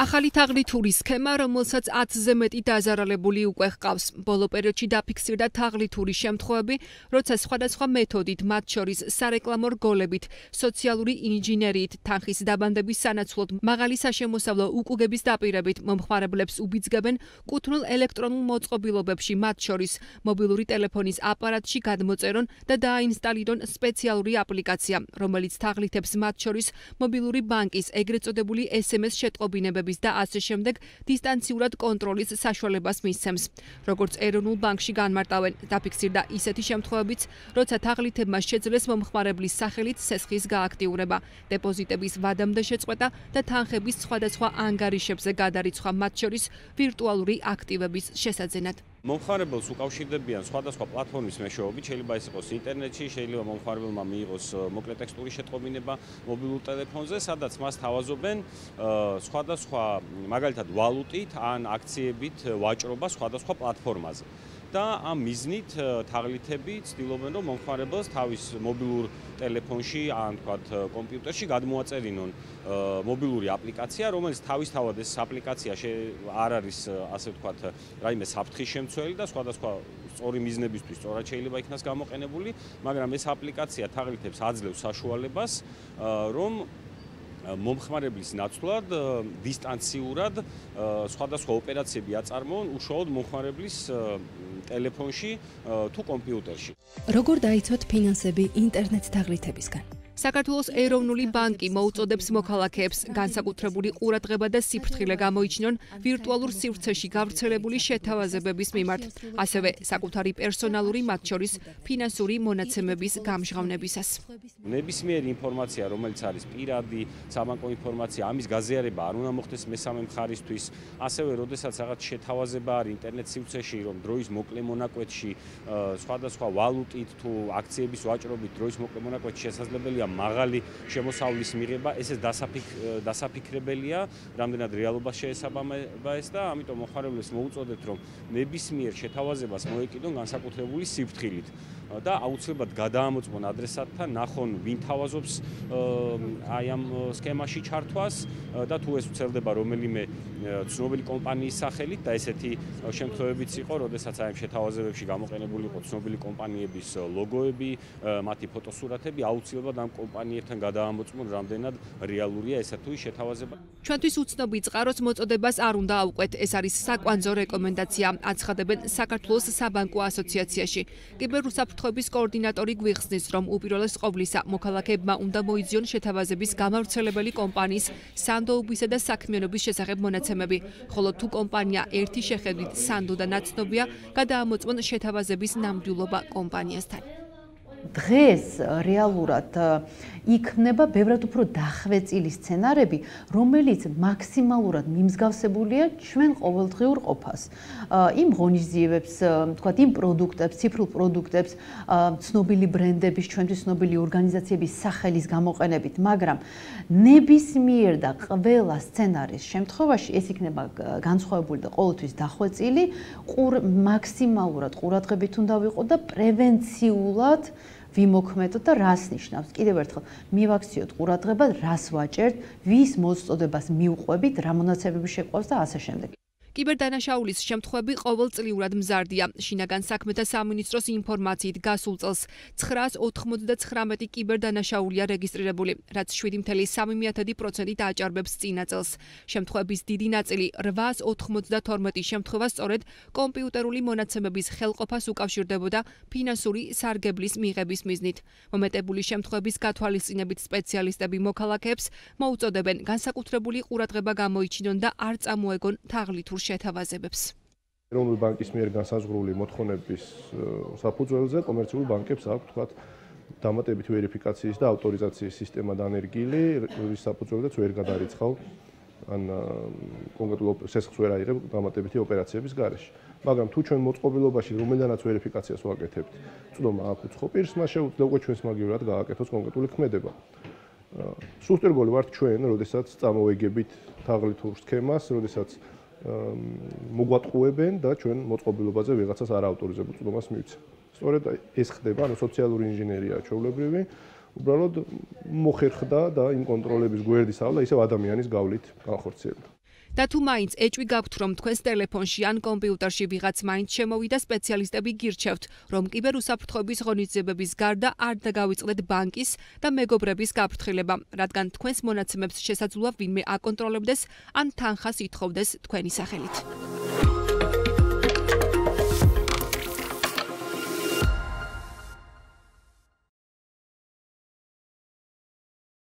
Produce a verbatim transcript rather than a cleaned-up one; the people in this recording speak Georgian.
ახალი თაღლითური სქემა, რომელსაც ათზე მეტი დაზარალებული უკვე ჰყავს. ბოლო პერიოდში დაფიქსირდა თაღლითური შემთხვევები, როცა სხვადასხვა მეთოდით, მათ შორის სარეკლამო რგოლებით, სოციალური ინჟინერიით, თანხის დაბანდების სანაცვლოდ, მაღალი საშემოსავლო უკუგების დაპირებით მომხმარებლებს უბიძგებენ კუთვნილ ელექტრონულ მოწყობილობებში, მათ შორის მობილური ტელეფონის აპარატში გადმოწერონ და დააინსტალირონ სპეციალური აპლიკაცია, რომელიც თაღლითებს მათ შორის მობილური ბანკის ეგრეთ წოდებული ეს ემ ეს შეტყობინებების და ასე შემდეგ დისტანციურად კონტროლის საშუალებას მისცემს. როგორც ეროვნულ ბანკში განმარტავენ, დაფიქსირდა ისეთი შემთხვევებიც, როცა თაღლითებმა შეძლეს მომხმარებლის სახელით სესხის გააქტიურება, დეპოზიტების ვადამდე შეწყვეტა და თანხების სხვადასხვა ანგარიშებზე გადარიცხვა, მათ შორის ვირტუალური აქტივების შესაძენად. მომხმარებელს უკავშირდებიან სხვადასხვა პლატფორმის მეშვეობით, შეიძლება ეს იყოს ინტერნეტში, შეიძლება მომხმარებელმა მიიღოს მოკლე ტექსტური შეტყობინება მობილურ ტელეფონზე, სადაც მას თავაზობენ სხვადასხვა მაგალითად ვალუტით ან აქციებით ვაჭრობა სხვადასხვა პლატფორმაზე. და ამ მიზნით თაღლითები ცდილობენ, რომ მომხმარებელს თავის მობილურ ტელეფონში ან თქვათ კომპიუტერში გადმოაწერინონ მობილური აპლიკაცია, რომელიც თავისთავად ეს აპლიკაცია არ არის, ასე ვთქვათ, რაიმე საფრთხის შემცველი და სხვადასხვა სწორი მიზნებისთვის სწორად შეიძლება იქნას გამოყენებული, მაგრამ ეს აპლიკაცია თაღლითებს აძლევს საშუალებას, რომ მომხმარებლის ნაცვლად დისტანციურად სხვადასხვა ოპერაციები აწარმოონ უშუალოდ მომხმარებლის ტელეფონში თუ კომპიუტერში. როგორ დაიცვათ ფინანსები ინტერნეტ თაღლითებისგან? საქართველოს ეროვნული ბანკი მოუწოდებს მოქალაქეებს განსაკუთრებული ყურადღება და სიფრთხილე გამოიჩინონ ვირტუალურ სივრცეში გავრცელებული შეთავაზებების მიმართ, ასევე საკუთარი პერსონალური, მათ შორის ფინანსური მონაცემების გამჟღავნებისას. ნებისმიერი ინფორმაცია, რომელიც არის პირადი, საბანკო ინფორმაცია, ამის გაზიარება არ უნდა მოხდეს მესამე მხარისთვის, ასევე როდესაც რაღაც შეთავაზება არის ინტერნეტ სივრცეში, რომ დროის მოკლე მონაკვეთში, სხვადასხვა ვალუტით თუ აქციების ვაჭრობით დროის მოკლე მონაკვეთში შესაძლებელია მაღალი შემოსავლის მიღება, ესე დასაფიქრებელია, რამდენად რეალობას შეესაბამება ეს და ამიტომ მომხმარებლებს მოუწოდებთ, რომ ნებისმიერ შეთავაზებას მოეკიდონ განსაკუთრებული სიფრთხილით და აუცილებლად გადაამოწმონ ადრესატთან, ნახონ ვინ თავაზობს აი ამ სქემაში ჩართვას და თუ ეს ვრცელდება რომელიმე ცნობილი კომპანიის სახელით და ესეთი შემთხვევებიც იყო, როდესაც აი ამ შეთავაზებებში გამოყენებული იყო ცნობილი კომპანიების ლოგოები, მათი ფოტოსურათები, აუცილებლად ამ კომპანიებთან გადაამოწმონ, რამდენად რეალურია ესა თუ ის შეთავაზება. ჩვენთვის უცნობი წყაროს მოწოდებას არ უნდა ავყვეთ, ეს არის საკვანძო რეკომენდაცია, აცხადებენ საქართველოს საბანკო ასოციაციაში. კიბერუსაფრთხოების კოორდინატორი გვიხსნის, რომ უპირველეს ყოვლისა მოქალაქეებმა უნდა მოიძიონ შეთავაზების გამავრცელებელი კომპანიის სანდოობისა და საქმიანობის შესახებ მონაცემები, ხოლო თუ კომპანია ერთი შეხედვით სანდო და ნაცნობია, გადაამოწმონ შეთავაზების ნამდვილობა კომპანიასთან. დღეს რეალურად იქნება ბევრად უფრო დახვეწილი სცენარები, რომელიც მაქსიმალურად მიმსგავსებულია ჩვენ ყოველდღიურ ყოფას. იმ ღონისძიებებს, თქვათ, იმ პროდუქტებს, ციფრულ პროდუქტებს, ცნობილი ბრენდების, ჩვენთვის ცნობილი ორგანიზაციების სახელის გამოყენებით, მაგრამ ნებისმიერ და ყველა სცენარის შემთხვევაში ეს იქნება განსხვავებული და ყოველთვის დახვეწილი, მაქსიმალურად ყურადღებით უნდა ვიყოთ და პრევენციულად ვიმოქმედოთ და რას ნიშნავს? კიდევ ერთხელ, მივაქციოთ ყურადღება, რას ვაჭერთ, ვის მოწოდებას მივყვებით, რა მონაცემები შეყვავს და ასე შემდეგ. კიბერდანაშაულის შემთხვევები ყოველწლიურად მზარდია. შინაგან საქმეთა სამინისტროს ინფორმაციით გასულ წელს ცხრაას ოთხმოცდაცხრამეტი კიბერდანაშაულია რეგისტრირებული, რაც შვიდი ფاصლე სამი პროცენტით აჭარბებს წინა წელს. შემთხვევების დიდი ნაწილი რვაას ოთხმოცდათორმეტი შემთხვევა სწორედ კომპიუტერული მონაცემების ხელყოფას უკავშირდებოდა ფინანსური სარგებლის მიღების მიზნით. მომეტებული შემთხვევების გათვალისწინებით სპეციალისტები მოქალაქეებს მოუწოდებენ განსაკუთრებული ყურადღება გამოიჩინონ და არ წამოეგონ თაღლითურ შეთავაზებებს. ეროვნული ბანკის მიერ განსაზღვრული მოთხოვნების საფუძველზე კომერციული ბანკებს აქვს, თქვათ, დამატებითი ვერიფიკაციის და ავტორიზაციის სისტემა დანერგილი, რის საფუძველზეც ვერ გადარიცხავ ან კონკრეტულ სესხს ვერ აიღებ დამატებითი ოპერაციების გარეშე. მაგრამ თუ ჩვენ მოწყობილობაში რომელიდანაც ვერიფიკაციას ვაკეთებთ, წვდომა აქვს უცხო პირს, მას შეუძლია უკვე ჩვენს მაგივრად გააკეთოს კონკრეტული ქმედება. სუსტერგოლი ვართ ჩვენ, როდესაც წამოვეგებით თაღლითურ სქემას, როდესაც მოგვატყუებენ და ჩვენ მოწყობილობაზე ვიღაცას არაავტორიზებულ წვდომას მივცემ. სწორედ ეს ხდება, ანუ სოციალური ინჟინერია ჩვეულებრივი, უბრალოდ მოხერხდა და იმ კონტროლების გვერდის ავლა ისევ ადამიანის გავლით განხორციელდა. და თუ მაინც ეჭვი გაქვთ, რომ თქვენს ტელეფონში ან კომპიუტერში ვიღაც მაინც შემოვიდა, სპეციალისტები გირჩევთ, რომ კიბერუსაფრთხოების ღონისძიებების გარდა არ დაგავიწყდეთ ბანკის და მეგობრების გაფრთხილება, რადგან თქვენს მონაცემებს შესაძლოა ვინმე აკონტროლებდეს ან თანხას ითხოვდეს თქვენი სახელით.